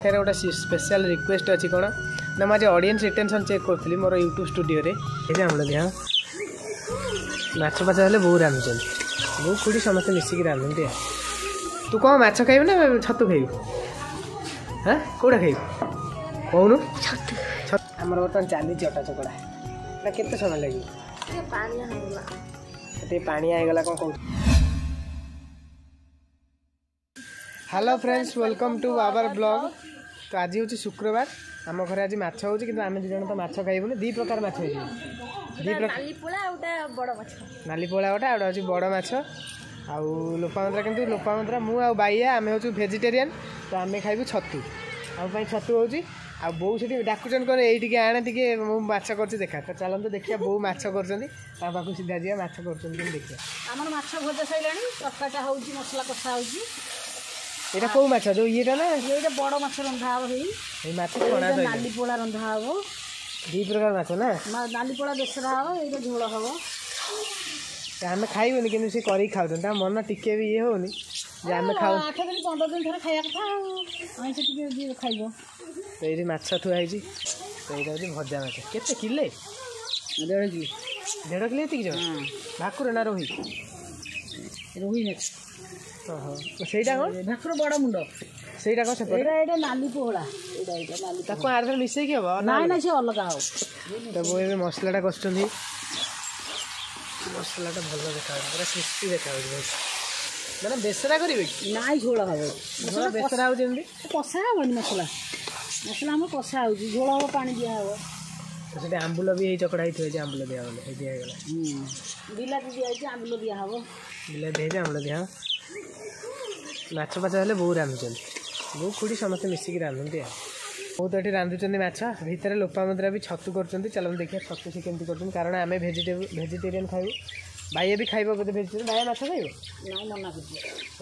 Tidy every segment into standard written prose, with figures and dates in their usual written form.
ପାଖରେ ଗୋଟେ special request ଅଛି। କ'ଣ ନା, ମୁଁ ଆଜି ଅଡ଼ିଏନ୍ସ ରିଟେନସନ୍ ଚେକ୍ କରୁଥିଲି ମୋର ୟୁଟ୍ୟୁବ୍ ଷ୍ଟୁଡ଼ିଓରେ। ଏଇ ଆମର ଦେହ ମାଛ ଫାଛ ହେଲେ ବୋଉ ରାନ୍ଧୁଛନ୍ତି, ବୋଉ ଖୁଡ଼ି ସମସ୍ତେ ମିଶିକି ରାନ୍ଧନ୍ତି। ଆଉ ତୁ କ'ଣ ମାଛ ଖାଇବୁ ନା ଛତୁ ଖାଇବୁ? ହଁ, କେଉଁଟା ଖାଇବୁ କହୁନୁ? ଛତୁ। ଆମର ବର୍ତ୍ତମାନ ଚାଲିଛି ଅଟା ଚକଡ଼ା ନା। କେତେ ସମୟ ଲାଗିବ? ଟିକେ ପାଣିଆ ହେଇଗଲା। କ'ଣ କହୁଛୁ? Hello friends, welcome to our blog. ତ ଆଜି ହେଉଛି ଶୁକ୍ରବାର, ଆମ ଘରେ ଆଜି ମାଛ ହେଉଛି, କିନ୍ତୁ ଆମେ ଦୁଇ ଜଣ ତ ମାଛ ଖାଇବୁନି। ଦୁଇ ପ୍ରକାର ମାଛ ହେଇଯିବ। ଦୁଇ ପ୍ରକାର, ନାଲି ପୋଳା ଗୋଟେ, ଆଉ ଗୋଟେ ହେଉଛି ବଡ଼ ମାଛ। ଆଉ ଲୋପାମୁଦ୍ରା, କିନ୍ତୁ ଲୋପାମୁଦ୍ରା, ମୁଁ ଆଉ ବାଇଆ ଆମେ ହେଉଛୁ ଭେଜିଟେରିଆନ୍, ତ ଆମେ ଖାଇବୁ ଛତୁ। ଆମ ପାଇଁ ଛତୁ ହେଉଛି। ଆଉ ବୋଉ ସେଠି ଡାକୁଛନ୍ତି, କ'ଣ ଏଇ ଟିକେ ଆଣେ ଟିକେ, ମୁଁ ମାଛ କରୁଛି ଦେଖା। ତ ଚାଲନ୍ତୁ ଦେଖିବା ବୋଉ ମାଛ କରୁଛନ୍ତି, ତା ପାଖକୁ ସିଧା ଯିବା, ମାଛ କରୁଛନ୍ତି କେମିତି ଦେଖିବା। ଆମର ମାଛ ଭଜା ସରିଲାଣି, ତରକାରୀଟା ହେଉଛି, ମସଲା କଷା ହେଉଛି। ଏଇଟା କୋଉ ମାଛ, ଯୋଉ ଇଏଟା ନା? ଏଇଟା ବଡ଼ ମାଛ ରନ୍ଧା ହବ। ହେଇ ଏଇ ମାଛ ଛଣା, ନାଲି ପୋଳା ରନ୍ଧା ହବ। ଦୁଇ ପ୍ରକାର ମାଛ ନା? ନାଲି ପୋଳା ବେସର ହବ, ଏଇଟା ଝୋଳ ହବ। ଆମେ ଖାଇବୁନି, କିନ୍ତୁ ସେ କରିକି ଖାଉଛନ୍ତି। ତାଙ୍କ ମନ ଟିକେ ବି ଇଏ ହଉନି ଯେ ଆମେ ଖାଉ। 8 ଦିନ 15 ଦିନ ଥରେ ଖାଇବା କଥା, ଆଉ ଆଇଁଷ ଟିକେ ଯିଏ ଖାଇବ। ତ ଏଇଠି ମାଛ ଥୁଆ ହେଇଛି। ତ ଏଇଟା ହେଉଛି ଭଜା ମାଛ। କେତେ କିଲେ? ଦେଢ଼ କିଲୋ। ଦେଢ଼ କିଲୋ ଏତିକି ଜମା? ଭାକୁର ନା ରୋହି? ରୋହି ମାଛ। ଓହୋ, ସେଇଟା କ'ଣ? ଭାକୁର ବଡ଼ ମୁଣ୍ଡ। ସେଇଟା କ'ଣ ସେପଟେ? ଏଇଟା ନାଲି ପୋହଳା। ଏଇଟା ନାଲି। ତାକୁ ଆର ମିଶେଇକି ହବ? ନାଇଁ ନାଇଁ, ସେ ଅଲଗା ହବ। ତ ବୋଉ ଏବେ ମସଲାଟା କଷୁଛନ୍ତି। ମସଲାଟା ଭଲ ଦେଖାଯାଉଛି, ପୁରା କ୍ରିସ୍ପି ଦେଖାଯାଉଛି ବହୁତ। ମାନେ ବେସରା କରିବେ କି? ନାଇଁ, ଝୋଳ ହବ। ଝୋଳ ବେସରା ହେଉଛି ଏମିତି? କଷା ହବନି ମସଲା। ମସଲା ଆମର କଷା ହେଉଛି, ଝୋଳ ହବ, ପାଣି ଦିଆହବ। ସେଠି ଆମ୍ବୁଲ ବି ହେଇ ଚକଡ଼ା ହେଇଥିବ ଯେ ଆମ୍ବୁଲ ଦିଆହବ, ହେଇ ଦିଆ ହେଇଗଲା। ବିଲାତି ଦିଆହେଇଛି, ଆମ୍ବୁଲ ଦିଆହବ। ବିଲାତି ହେଇଛି, ଆମ୍ବୁଲ ଦିଆହବ। ମାଛ ଫାଛ ହେଲେ ବୋଉ ରାନ୍ଧୁଛନ୍ତି, ବୋଉ ଖୁଡ଼ି ସମସ୍ତେ ମିଶିକି ରାନ୍ଧନ୍ତି। ଆଉ ବୋଉ ତ ଏଠି ରାନ୍ଧୁଛନ୍ତି ମାଛ, ଭିତରେ ଲୋପାମୁଦ୍ରା ବି ଛତୁ କରୁଛନ୍ତି। ଚାଲନ୍ତୁ ଦେଖିବା ଛତୁ ସେ କେମିତି କରୁଛନ୍ତି, କାରଣ ଆମେ ଭେଜିଟେରିଆନ୍ ଖାଇବୁ। ବାଇଆ ବି ଖାଇବ ବୋଧେ ଭେଜିଟେରିଆନ୍। ବାଇଆ ମାଛ ଖାଇବ? ନାଇଁ, ମନା କରୁଛି।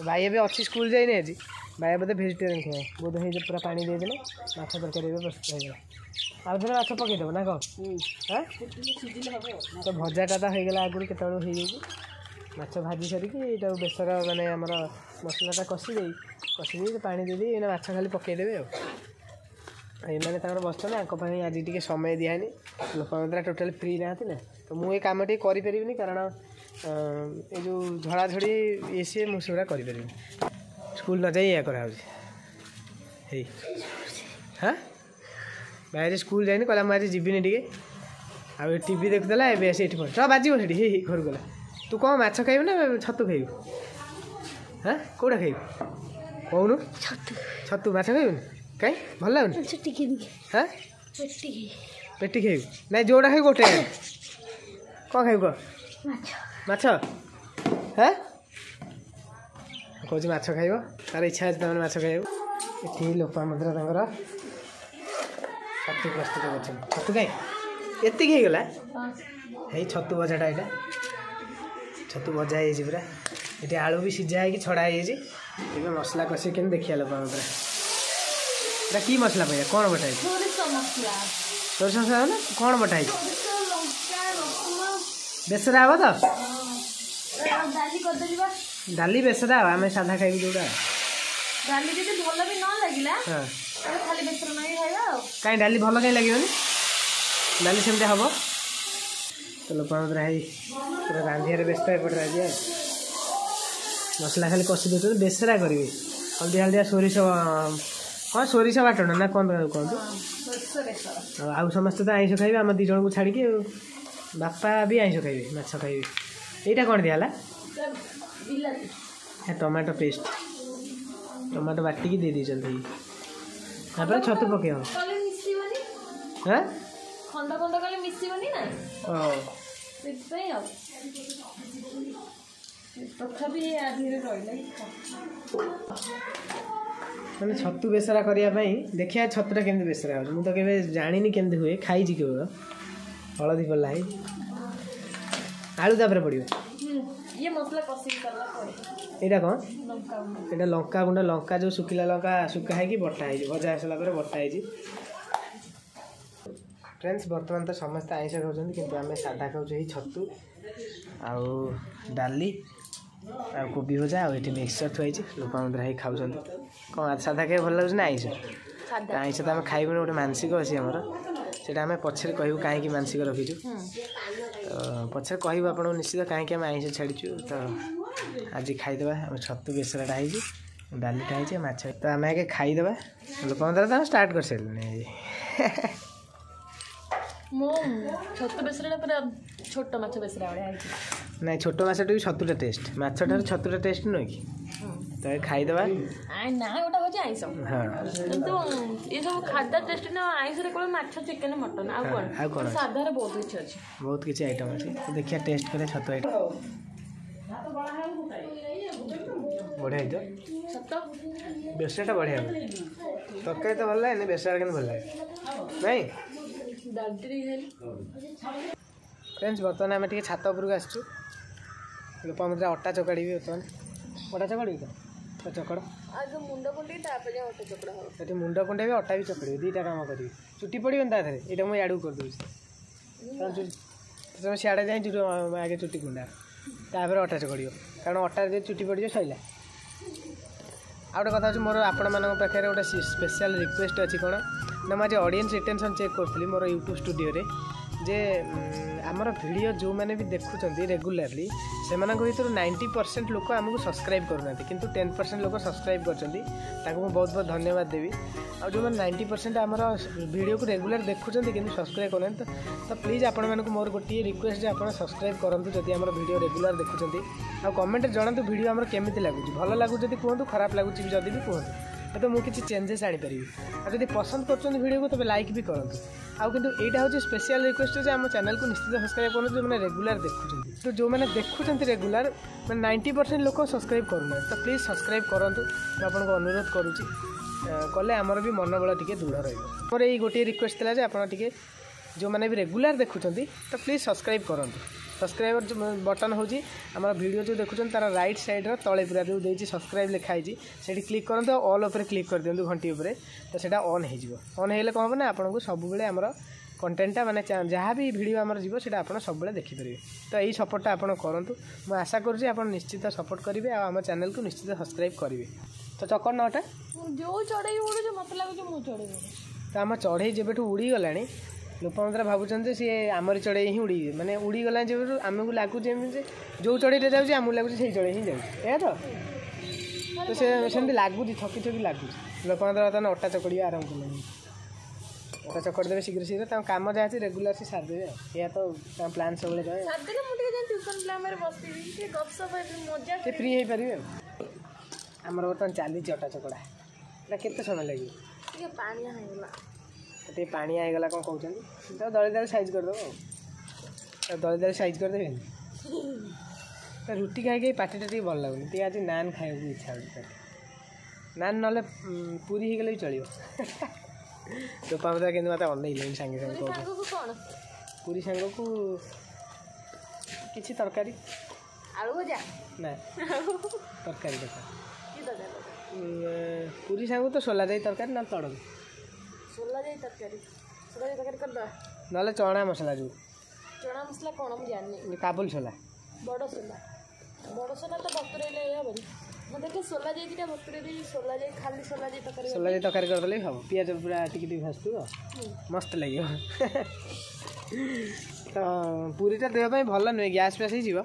ବାଇଆ ବି ଅଛି, ସ୍କୁଲ ଯାଇନି ଆଜି। ବାଇଆ ବୋଧେ ଭେଜିଟେରିଆନ୍ ଖାଇବ ବୋଧେ। ହେଇ ପୁରା ପାଣି ଦେଇଦେଲେ, ମାଛ ତରକାରୀ ଏବେ ପ୍ରସ୍ତୁତ ହେଇଗଲା। ଆଉ ଥରେ ମାଛ ପକେଇଦେବ ନା କ'ଣ? ହଁ, ତ ଭଜାଟା ତ ହେଇଗଲା, ଆଗରୁ କେତେବେଳୁ ହେଇଯାଇଛି। ମାଛ ଭାଜି ସାରିକି ଏଇଟାକୁ ବେସର, ମାନେ ଆମର ମସଲାଟା କଷି ଦେଇ ପାଣି ଦେଇଦେଇ ଏଇନା ମାଛ ଖାଲି ପକେଇଦେବେ। ଆଉ ଏମାନେ ତାଙ୍କର ବସିଛନ୍ତି, ଆଙ୍କ ପାଇଁ ଆଜି ଟିକେ ସମୟ ଦିଆହେଇନି। ଲୋକମାନେ ଟୋଟାଲି ଫ୍ରି ନାହାନ୍ତି ନା, ତ ମୁଁ ଏ କାମ ଟିକେ କରିପାରିବିନି, କାରଣ ଏ ଯେଉଁ ଝଡ଼ାଝଡ଼ି ଇଏ ସିଏ ମୁଁ ସେଗୁଡ଼ା କରିପାରିବିନି। ସ୍କୁଲ ନ ଯାଇ ଏଇଆ କରାହେଉଛି। ହେଇ ହଁ, ଭାଇ ଆଜି ସ୍କୁଲ ଯାଇନି, କହିଲା ମୁଁ ଆଜି ଯିବିନି ଟିକେ। ଆଉ ଏ ଟିଭି ଦେଖୁଥିଲା, ଏବେ ଆସି ଏଠି ପହଞ୍ଚ ବାଜିବ ସେଠି। ହେଇ ଘରକୁ ଗଲା। ତୁ କ'ଣ ମାଛ ଖାଇବୁ ନା ଛତୁ ଖାଇବୁ? ହଁ, କେଉଁଟା ଖାଇବୁ କହୁନୁ? ଛତୁ। ଛତୁ? ମାଛ ଖାଇବୁନି? କାଇଁ, ଭଲ ଲାଗୁନି? ହଁ, ପେଟି ଖାଇବୁ? ନାଇଁ, ଯେଉଁଟା ଖାଇବୁ ଗୋଟେ। କ'ଣ ଖାଇବୁ କହ? ମାଛ। ହଁ, କହୁଛି ମାଛ ଖାଇବ, ତାର ଇଚ୍ଛା ଅଛି ତାମାନେ ମାଛ ଖାଇବାକୁ। ଏଠି ଲୋପାମୁଦ୍ରା ତାଙ୍କର ଛତୁ ପ୍ରସ୍ତୁତ କରୁଛନ୍ତି। ଛତୁ କାଇଁ ଏତିକି ହେଇଗଲା? ହେଇ ଛତୁ ଭଜାଟା, ଏଇଟା ଛତୁ ଭଜା ହେଇଯାଇଛି ପୁରା। ଏଠି ଆଳୁ ବି ସିଝା ହେଇକି ଛଡ଼ା ହେଇଯାଇଛି। ଏବେ ମସଲା କଷିକି କେମିତି ଦେଖିବା ଲୋପାମୁଦ୍ରା। ଏଇଟା କି ମସଲା ପାଇବା? କ'ଣ ବଟା ହେଇଛି? ସୋରିଷ ମସଲା ନା କ'ଣ ବଟା ହେଇଛି? ବେସରା ହବ ତ? ଡାଲି ବେସରା ହବ, ଆମେ ସାଧା ଖାଇବୁ ଯୋଉଟା। ଡାଲି ଯଦି ଭଲ ବି ନ ଲାଗିଲା, ଖାଲି ବେସର ନଗେଇ ଖାଇବା। ଆଉ କାଇଁ, ଡାଲି ଭଲ କାଇଁ ଲାଗିବନି? ଡାଲି ସେମିତି ହବ। ତ ଲୋପାମୁଦ୍ରା ହେଇ ପୁରା ରାନ୍ଧିବାରେ ବ୍ୟସ୍ତ ଏପଟେ ଆଜି। ଆଉ ମସଲା ଖାଲି କଷି ଦେଉଛନ୍ତି, ବେସରା କରିବେ। ହଳଦିଆ ହଳଦିଆ ସୋରିଷ, ହଁ, ସୋରିଷ ବାଟଣ ନା କ'ଣ କୁହନ୍ତୁ। ଆଉ ସମସ୍ତେ ତ ଆଇଁଷ ଖାଇବେ ଆମ ଦୁଇ ଜଣଙ୍କୁ ଛାଡ଼ିକି। ଆଉ ବାପା ବି ଆଇଁଷ ଖାଇବେ, ମାଛ ଖାଇବେ। ଏଇଟା କ'ଣ ଦିଆହେଲା? ଟମାଟୋ ପେଷ୍ଟ, ଟମାଟୋ ବାଟିକି ଦେଇ ଦେଇଛନ୍ତି। ତାପରେ ଛତୁ ପକେଇବ। ହଁ, ଖଣ୍ଡ ଖଣ୍ଡ କଲେ ମିଶିବନି ନା, ସେଥିପାଇଁ। ଆଉ ତଥାପି ରହିଲା। ମାନେ ଛତୁ ବେସରା କରିବା ପାଇଁ ଦେଖିବା ଛତୁଟା କେମିତି ବେସରା ହେଉଛି। ମୁଁ ତ କେବେ ଜାଣିନି କେମିତି ହୁଏ, ଖାଇଛି କେବଳ। ହଳଦୀ ପଡ଼ିଲା, ହେଇ ଆଳୁ ତାପରେ ପଡ଼ିବ। ଏଇଟା କ'ଣ? ଏଇଟା ଲଙ୍କା ଗୁଣ୍ଡ। ଲଙ୍କା ଯେଉଁ ଶୁଖିଲା ଲଙ୍କା ଶୁଖା ହେଇକି ବଟା ହେଇଛି, ଭଜା ହେଇସାରିଲା ପରେ ବଟା ହେଇଛି। ଫ୍ରେଣ୍ଡସ୍, ବର୍ତ୍ତମାନ ତ ସମସ୍ତେ ଆଇଁଷ ଖାଉଛନ୍ତି, କିନ୍ତୁ ଆମେ ସାଧା ଖାଉଛୁ। ଏଇ ଛତୁ ଆଉ ଡାଲି ଆଉ କୋବି ଭଜା, ଆଉ ଏଠି ମିକ୍ସଚର୍ ଥୁଆ ହେଇଛି। ଲୋପାମୁଦ୍ରା ହେଇ ଖାଉଛନ୍ତି। କ'ଣ, ସାଧା ଖାଇବା ଭଲ ଲାଗୁଛି ନା ଆଇଁଷ? ଆଇଁଷ ତ ଆମେ ଖାଇବୁନି, ଗୋଟେ ମାନସିକ ଅଛି ଆମର, ସେଇଟା ଆମେ ପଛରେ କହିବୁ କାହିଁକି ମାନସିକ ରଖିଛୁ। ତ ପଛରେ କହିବୁ ଆପଣଙ୍କୁ ନିଶ୍ଚିତ କାହିଁକି ଆମେ ଆଇଁଷ ଛାଡ଼ିଛୁ। ତ ଆଜି ଖାଇଦେବା। ଆମେ ଛତୁ ବେସରଟା ହେଇଛି, ଡାଲିଟା ହେଇଛି, ମାଛ। ତ ଆମେ ଆଗେ ଖାଇଦେବା। ଲୋକମାନେ ତ ଷ୍ଟାର୍ଟ କରିସାରିଲେଣି ଆଜି। ମୁଁ ଛତୁ ବେସରଟା ପୁରା ଛୋଟ ମାଛ ବେସର ଭଳିଆ ହେଇଛି। ନାଇଁ, ଛୋଟ ମାଛଟା ବି ଛତୁଟା ଟେଷ୍ଟ, ମାଛଠାରୁ ଛତୁଟା ଟେଷ୍ଟ ନୁହେଁ କି? ତ ଖାଇଦେବା। ନା, ଗୋଟେ ହେଉଛି ଆଇଁଷ। ହଁ, କିନ୍ତୁ ଏସବୁ ଖାଦ୍ୟ ଟେଷ୍ଟ ନା। ଆଇଁଷରେ କେବଳ ମାଛ, ଚିକେନ, ମଟନ, ଆଉ କ'ଣ? ଆଉ କ'ଣ? ସାଧାରେ ବହୁତ କିଛି ଅଛି, ବହୁତ କିଛି ଆଇଟମ୍ ଅଛି। ତ ଦେଖିବା, ଟେଷ୍ଟ କରିବା ଛତୁ ଆଇଟମ୍। ବଢ଼ିଆ ହେଇଥିବ ବେସରଟା, ବଢ଼ିଆ ହେବ। ତରକାରୀ ତ ଭଲ ଲାଗେନି, ବେସରଟା କିନ୍ତୁ ଭଲ ଲାଗେ। ନାଇଁ ଫ୍ରେଣ୍ଡସ୍, ବର୍ତ୍ତମାନ ଆମେ ଟିକେ ଛାତ ଉପରକୁ ଆସିଛୁ। ଲୋପାମୁଦ୍ରା ଅଟା ଚକାଡ଼ିବି ବର୍ତ୍ତମାନ। ଅଟା ଚକାଡ଼ିବି ତ ଚକଡ଼। ମୁଣ୍ଡ କୁଣ୍ଡେଇ ତାପରେ ଅଟା ଚକଡ଼ା ହବ। ସେଠି ମୁଣ୍ଡ କୁଣ୍ଡେଇବି, ଅଟା ବି ଚକଡ଼ିବି, ଦୁଇଟା କାମ କରିବି। ଚୁଟି ପଡ଼ିବନି ତା ଦେହରେ। ଏଇଟା ମୁଁ ଇଆଡ଼କୁ କରିଦେଉଛି। ତମେ ସିଆଡ଼େ ଯାଇ ଚୁଟି ଆଗେ ଚୁଟି କୁଣ୍ଡା, ତାପରେ ଅଟା ଚକଡ଼ିବ, କାରଣ ଅଟାରେ ଯଦି ଚୁଟି ପଡ଼ିଯିବ ସରିଲା। ଆଉ ଗୋଟେ କଥା ହେଉଛି, ମୋର ଆପଣମାନଙ୍କ ପାଖରେ ଗୋଟେ ସ୍ପେଶାଲ୍ ରିକ୍ୱେଷ୍ଟ ଅଛି। କ'ଣ ନା, ମୁଁ ଆଜି ଅଡ଼ିଏନ୍ସ ରିଟେନସନ୍ ଚେକ୍ କରୁଥିଲି ମୋର ୟୁଟ୍ୟୁବ୍ ଷ୍ଟୁଡ଼ିଓରେ ଯେ ଆମର ଭିଡ଼ିଓ ଯେଉଁମାନେ ବି ଦେଖୁଛନ୍ତି ରେଗୁଲାରଲି, ସେମାନଙ୍କ ଭିତରୁ 90% ଲୋକ ଆମକୁ ସବସ୍କ୍ରାଇବ୍ କରୁନାହାନ୍ତି, କିନ୍ତୁ 10% ଲୋକ ସବସ୍କ୍ରାଇବ୍ କରିଛନ୍ତି। ତାଙ୍କୁ ମୁଁ ବହୁତ ବହୁତ ଧନ୍ୟବାଦ ଦେବି। ଆଉ ଯେଉଁମାନେ 90% ଆମର ଭିଡ଼ିଓକୁ ରେଗୁଲାର ଦେଖୁଛନ୍ତି କିନ୍ତୁ ସବସ୍କ୍ରାଇବ୍ କରୁନାହାନ୍ତି, ତ ପ୍ଲିଜ୍ ଆପଣମାନଙ୍କୁ ମୋର ଗୋଟିଏ ରିକ୍ୱେଷ୍ଟ ଯେ ଆପଣ ସବସ୍କ୍ରାଇବ୍ କରନ୍ତୁ ଯଦି ଆମର ଭିଡ଼ିଓ ରେଗୁଲାର ଦେଖୁଛନ୍ତି। ଆଉ କମେଣ୍ଟରେ ଜଣାନ୍ତୁ ଭିଡ଼ିଓ ଆମର କେମିତି ଲାଗୁଛି। ଭଲ ଲାଗୁଛି ଯଦି କୁହନ୍ତୁ, ଖରାପ ଲାଗୁଛି ବି ଯଦି ବି କୁହନ୍ତୁ, ତ ମୁଁ କିଛି ଚେଞ୍ଜେସ୍ ଆଣିପାରିବି। ଆଉ ଯଦି ପସନ୍ଦ କରୁଛନ୍ତି ଭିଡ଼ିଓକୁ, ତେବେ ଲାଇକ୍ ବି କରନ୍ତୁ। ଆଉ କିନ୍ତୁ ଏଇଟା ହେଉଛି ସ୍ପେଶିଆଲ୍ ରିକ୍ୱେଷ୍ଟ ଯେ ଆମ ଚ୍ୟାନେଲକୁ ନିଶ୍ଚିତ ସବସ୍କ୍ରାଇବ୍ କରନ୍ତୁ ଯେଉଁମାନେ ରେଗୁଲାର ଦେଖୁଛନ୍ତି। ତ ଯେଉଁମାନେ ଦେଖୁଛନ୍ତି ରେଗୁଲାର, ମାନେ 90% ଲୋକ ସବସ୍କ୍ରାଇବ୍ କରୁନାହାନ୍ତି, ତ ପ୍ଲିଜ୍ ସବସ୍କ୍ରାଇବ୍ କରନ୍ତୁ, ମୁଁ ଆପଣଙ୍କୁ ଅନୁରୋଧ କରୁଛି। କଲେ ଆମର ବି ମନୋବଳ ଟିକେ ଦୃଢ଼ ରହିବ। ମୋର ଏଇ ଗୋଟିଏ ରିକ୍ୱେଷ୍ଟ ଥିଲା ଯେ ଆପଣ ଟିକେ ଯେଉଁମାନେ ବି ରେଗୁଲାର ଦେଖୁଛନ୍ତି, ତ ପ୍ଲିଜ୍ ସବସ୍କ୍ରାଇବ୍ କରନ୍ତୁ। ସବସ୍କ୍ରାଇବର ବଟନ୍ ହେଉଛି ଆମର ଭିଡ଼ିଓ ଯେଉଁ ଦେଖୁଛନ୍ତି ତାର ରାଇଟ୍ ସାଇଡ଼୍ର ତଳେ ପୁରା ଯେଉଁ ଦେଇଛି ସବସ୍କ୍ରାଇବ୍ ଲେଖା ହେଇଛି, ସେଇଠି କ୍ଲିକ୍ କରନ୍ତୁ ଆଉ ଅଲ୍ ଉପରେ କ୍ଲିକ୍ କରିଦିଅନ୍ତୁ, ଘଣ୍ଟି ଉପରେ। ତ ସେଇଟା ଅନ୍ ହେଇଯିବ। ଅନ୍ ହେଇଗଲେ କ'ଣ ହେବ ନା, ଆପଣଙ୍କୁ ସବୁବେଳେ ଆମର କଣ୍ଟେଣ୍ଟଟା, ମାନେ ଯାହା ବି ଭିଡ଼ିଓ ଆମର ଯିବ, ସେଇଟା ଆପଣ ସବୁବେଳେ ଦେଖିପାରିବେ। ତ ଏଇ ସପୋର୍ଟଟା ଆପଣ କରନ୍ତୁ। ମୁଁ ଆଶା କରୁଛି ଆପଣ ନିଶ୍ଚିତ ସପୋର୍ଟ କରିବେ ଆଉ ଆମ ଚ୍ୟାନେଲକୁ ନିଶ୍ଚିତ ସବସ୍କ୍ରାଇବ୍ କରିବେ। ତ ଚକଡ଼ ନଅଟା ଯେଉଁ ଚଢ଼େଇ ଉଡ଼ୁଛି, ମୋତେ ଲାଗୁଛି ମୁଁ ଚଢ଼େଇ। ତ ଆମ ଚଢ଼େଇ ଯେବେଠୁ ଉଡ଼ିଗଲାଣି, ଲୋକମାନେ ଭାବୁଛନ୍ତି ଯେ ସିଏ ଆମରି ଚଢ଼େଇ ହିଁ ଉଡ଼ି, ମାନେ ଉଡ଼ିଗଲାଣି ଯେବେଠୁ, ଆମକୁ ଲାଗୁଛି ଏମିତି ଯେ ଯେଉଁ ଚଢ଼େଇଟା ଯାଉଛି, ଆମକୁ ଲାଗୁଛି ସେଇ ଚଢ଼େଇ ହିଁ ଯାଉଛି। ଏହା ତ ସେ ସେମିତି ଲାଗୁଛି, ଥକି ଥକି ଲାଗୁଛି। ଲୋକମାନେ ବର୍ତ୍ତମାନ ଅଟା ଚକଡ଼ିବା ଆରମ୍ଭ କଲେଣି। ଅଟା ଚକଡ଼ି ଦେବେ ଶୀଘ୍ର ଶୀଘ୍ର, ତାଙ୍କ କାମ ଯାହା ଅଛି ରେଗୁଲାର ସେ ସାରିଦେବେ। ଆଉ ଏହା ତ ତାଙ୍କ ପ୍ଲାନ୍ ସବୁବେଳେ ରହେ। ସାରିଦେଲେ ମୁଁ ଟିକେ ଯାଇ ଟ୍ୟୁସନ୍ ପିଲାମାନେ ବସିବି, ଟିକେ ଗପସପ ହେବି, ମଜା। ଟିକେ ଫ୍ରି ହେଇପାରିବେ। ଆଉ ଆମର ବର୍ତ୍ତମାନ ଚାଲିଛି ଅଟା ଚକଡ଼ା। ଏଇଟା କେତେ ସମୟ ଲାଗିବ? ଟିକେ ପାଣିଆ ହେଇଗଲା। ଟିକେ ପାଣିଆ ହେଇଗଲା କ'ଣ କହୁଛନ୍ତି। ତ ଦଳି ଦଳି ସାଇଜ୍ କରିଦେବ। ଆଉ ଦଳି ଦଳି ସାଇଜ୍ କରିଦେବେନି ତ ରୁଟି ଖାଇକି ପାଟିଟା ଟିକେ ଭଲ ଲାଗୁନି। ଟିକେ ଆଜି ନାନ୍ ଖାଇବାକୁ ଇଚ୍ଛା ହେଉଛି ପାଟି। ନାନ୍ ନହେଲେ ପୁରୀ ହେଇଗଲେ ବି ଚଳିବ। ଲୋପାମୁଦ୍ରା କିନ୍ତୁ ମୋତେ ଅନେଇଲେଣି ସାଙ୍ଗେ ସାଙ୍ଗେ କହୁଛି ପୁରୀ ସାଙ୍ଗକୁ କିଛି ତରକାରୀ, ଆଳୁ ଭଜା ନା ତରକାରୀ ଦରକାର। ପୁରୀ ସାଙ୍ଗକୁ ତ ସୋଲା ଯାଇ ତରକାରୀ, ନହେଲେ ତଡ଼କା। ସୋଲା ଯାଇ ତରକାରୀ, ସୋଲା ଯାଇ ତରକାରୀ କରିଦେବା, ନହେଲେ ଚଣା ମସଲା। ଯେଉଁ ଚଣା ମସଲା କ'ଣ ମୁଁ ଜାଣିନି। କାବୁଲ ସୋଲା, ବଡ଼ ସୋଲା, ବଡ଼ ସୋଲା ତ ବତୁରେଇଲେ ହେବନି। ମୁଁ ଦେଖେ ସୋଲା ଯାଇ ଦୁଇଟା ବତୁରେଇ ଦେଇ ସୋଲା ଯାଇ, ଖାଲି ସୋଲା ଯାଇ ତରକାରୀ, ସୋଲା ଯାଇ ତରକାରୀ କରିଦେଲେ ବି ହେବ। ପିଆଜ ପୁରା ଟିକେ ଟିକେ ଭାସୁଥିବ, ମସ୍ତ ଲାଗିବ। ତ ପୁରୀଟା ଦେହ ପାଇଁ ଭଲ ନୁହେଁ, ଗ୍ୟାସ୍ ଫ୍ୟାସ୍ ହେଇଯିବ,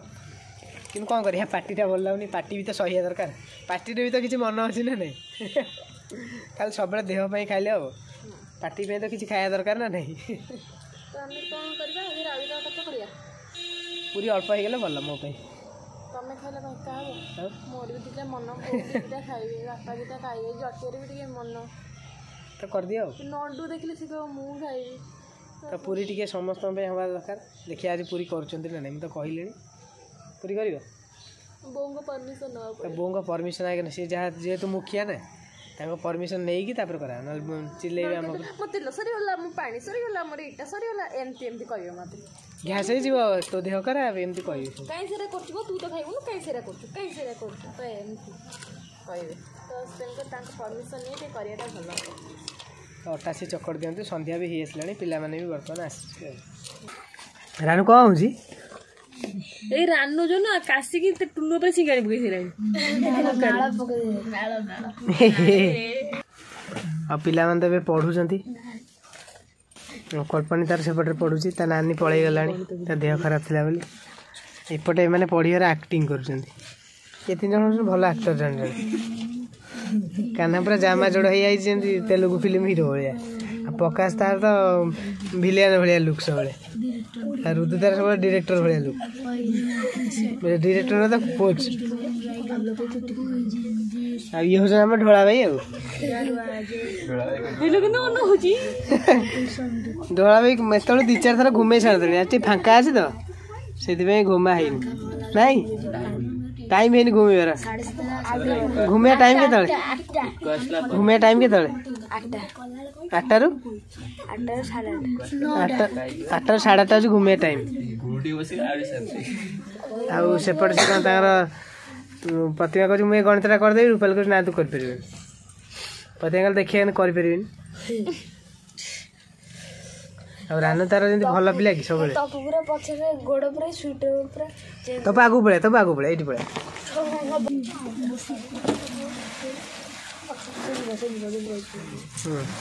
କିନ୍ତୁ କ'ଣ କରିବା, ପାଟିଟା ଭଲ ଲାଗୁନି। ପାଟି ବି ତ ସହିବା ଦରକାର, ପାଟିରେ ବି ତ କିଛି ମନ ଅଛି ନା ନାହିଁ? ଖାଲି ସବୁବେଳେ ଦେହ ପାଇଁ ଖାଇଲେ ହେବ? ପାଟି ପାଇଁ ତ କିଛି ଖାଇବା ଦରକାର ନା ନାହିଁ? ତ ଆମେ କ'ଣ କରିବା ଆଜି? ରାବିର କଥା କରିବା। ପୁରୀ ଅଳ୍ପ ହେଇଗଲେ ଭଲ ମୋ ପାଇଁ। ତମେ ଖାଇଲେ କ'ଣ ଏକା ହବ? ମୋର ବି ଦୁଇଟା ମନ, ବୋଉ ଦୁଇଟା ଖାଇବେ, ବାପା ଦୁଇଟା ଖାଇବେ, ଜଟିଆରେ ବି ଟିକେ ମନ। ତ କରିଦିଅ। ଆଉ ନଣ୍ଡୁ ଦେଖିଲେ ସେ କହିବ ମୁଁ ଖାଇବି। ତ ପୁରୀ ଟିକେ ସମସ୍ତଙ୍କ ପାଇଁ ହେବା ଦରକାର। ଦେଖିବା ଆଜି ପୁରୀ କରୁଛନ୍ତି ନା ନାହିଁ। ମୁଁ ତ କହିଲିଣି ପୁରୀ କରିବ। ବୋଉଙ୍କ ପରମିସନ୍ ନେବାକୁ। ବୋଉଙ୍କ ପରମିସନ୍ ଆଜ୍ଞା, ସିଏ ଯାହା ଯେହେତୁ ମୁଖିଆ ନା, ତାଙ୍କ ପରମିସନ୍ ନେଇକି ତାପରେ କରା, ନହେଲେ ଚିଲେଇବେ ଆମକୁ। ମୋ ତେଲ ସରିଗଲା, ମୋ ପାଣି ସରିଗଲା, ମୋର ଏଇଟା ସରିଗଲା, ଏମିତି ଏମିତି କହିବେ ମୋତେ। ଗ୍ୟାସ୍ ହେଇଯିବ, ତୋ ଦେହ ଖରାପ, ଏମିତି କହିବେ। କାହିଁ ସେଟା କରୁଛୁ, ତୁ ତ ଖାଇବୁନୁ, କାହିଁ ସେଟା କରୁଛୁ, କାହିଁ ସେଟା କରୁଛୁ, ତ ଏମିତି କହିବେ। ତ ତେଣୁକରି ତାଙ୍କ ପରମିସନ୍ ନେଇ ଟିକେ କରିବାଟା ଭଲ ହେବ। ଅଟା ସେ ଚକଡ଼ି ଦିଅନ୍ତୁ। ସନ୍ଧ୍ୟା ବି ହେଇ ଆସିଲାଣି, ପିଲାମାନେ ବି ବର୍ତ୍ତମାନ ଆସିବେ। ରାନୁ, କ'ଣ ହେଉଛି? ଏଇ ରାନୁ ଯୋଉ ନା କାଶିକି ଟୁଲୁ ଉପରେ ସିଙ୍ଗାଣି ପକେଇ ସାରିଲାଣି। ଆଉ ପିଲାମାନେ ତ ଏବେ ପଢ଼ୁଛନ୍ତି। କଳ୍ପନୀ ତାର ସେପଟରେ ପଢ଼ୁଛି, ତା ନାନୀ ପଳେଇଗଲାଣି ତା ଦେହ ଖରାପ ଥିଲା ବୋଲି। ଏପଟେ ଏମାନେ ପଢ଼ିବାର ଆକ୍ଟିଂ କରୁଛନ୍ତି। ଏ ତିନି ଜଣ ହେଉଛନ୍ତି ଭଲ ଆକ୍ଟର ଜଣେ ଜଣେ। କାହ୍ନା ପୁରା ଜାମା ଯୋଡ଼ ହେଇଯାଇଛି ଯେମିତି ତେଲୁଗୁ ଫିଲ୍ମ ହିରୋ ଭଳିଆ। ଆଉ ପ୍ରକାଶ ତାର ତ ଭିଲିଆନ ଭଳିଆ ଲୁକ୍ ସବୁବେଳେ। ଆଉ ରୁଦୁ ତାର ସବୁବେଳେ ଡିରେକ୍ଟର ଭଳିଆ ଲୁକ୍, ଡିରେକ୍ଟର ତ କୋଚ୍। ଆଉ ଇଏ ହେଉଛନ୍ତି ଆମ ଢୋଳା ଭାଇ। ଆଉ ଢୋଳା ଭାଇ ଏତେବେଳେ 2 4 ଥର ଘୁମେଇ ସାରନ୍ତେଣି। ଆଜି ଟିକେ ଫାଙ୍କା ଅଛି ତ ସେଥିପାଇଁ ଘୁମା ହେଇନି। ନାଇଁ ଟାଇମ୍ ହେଇନି ଘୁମେଇବାର। ଘୁମେଇବା ଟାଇମ୍ କେତେବେଳେ? ଘୁମେଇବା ଟାଇମ୍ କେତେବେଳେ? 8ଟାରୁ 8ଟାରୁ 8:30 ହେଉଛି ଘୁମେଇବା ଟାଇମ୍। ଆଉ ସେପଟେ ସେ କ'ଣ ତାଙ୍କର ପ୍ରତିମା କହୁଛି ମୁଁ ଏ ଗଣିତଟା କରିଦେବି, ରୂପାଲି କହୁଛି ନା ତୁ କରିପାରିବୁନି। ପ୍ରତିମା କହିଲେ ଦେଖିବା କରିପାରିବିନି। ଆଉ ରାନୁ ତାର ଯେମିତି ଭଲ ପିଲା କି ସବୁବେଳେ ତପ ଆଗକୁ ପଳେଇଆ, ତପ ଆଗକୁ ପଳେଇଆ, ଏଇଠି ପଳେଇଆ।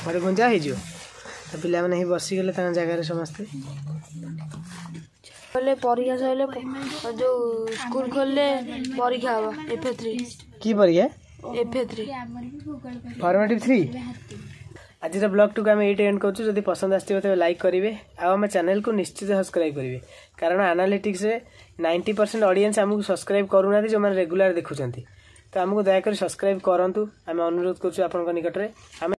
ଘରେ ଗୁଞ୍ଜା ହେଇଯିବ। ତ ପିଲାମାନେ ହିଁ ବସିଗଲେ ତାଙ୍କ ଜାଗାରେ ସମସ୍ତେ। ପରୀକ୍ଷା ସରିଲେ ଯୋଉ ସ୍କୁଲ ଖୋଲିଲେ ପରୀକ୍ଷା ହବ FA3। କି ପରୀକ୍ଷା? FA3, formative 3। ଆଜିର ବ୍ଲଗ୍ଟିକୁ ଆମେ ଏଇଠି ଏଣ୍ଡ କରୁଛୁ। ଯଦି ପସନ୍ଦ ଆସିଥିବ ତେବେ ଲାଇକ୍ କରିବେ ଆଉ ଆମ ଚ୍ୟାନେଲକୁ ନିଶ୍ଚିତ ସବସ୍କ୍ରାଇବ୍ କରିବେ, କାରଣ ଆନାଲିଟିକ୍ସରେ 90% ଅଡ଼ିଏନ୍ସ ଆମକୁ ସବସ୍କ୍ରାଇବ୍ କରୁନାହାନ୍ତି ଯେଉଁମାନେ ରେଗୁଲାର ଦେଖୁଛନ୍ତି। ତ ଆମକୁ ଦୟାକରି ସବସ୍କ୍ରାଇବ୍ କରନ୍ତୁ, ଆମେ ଅନୁରୋଧ କରୁଛୁ ଆପଣଙ୍କ ନିକଟରେ। ଆମେ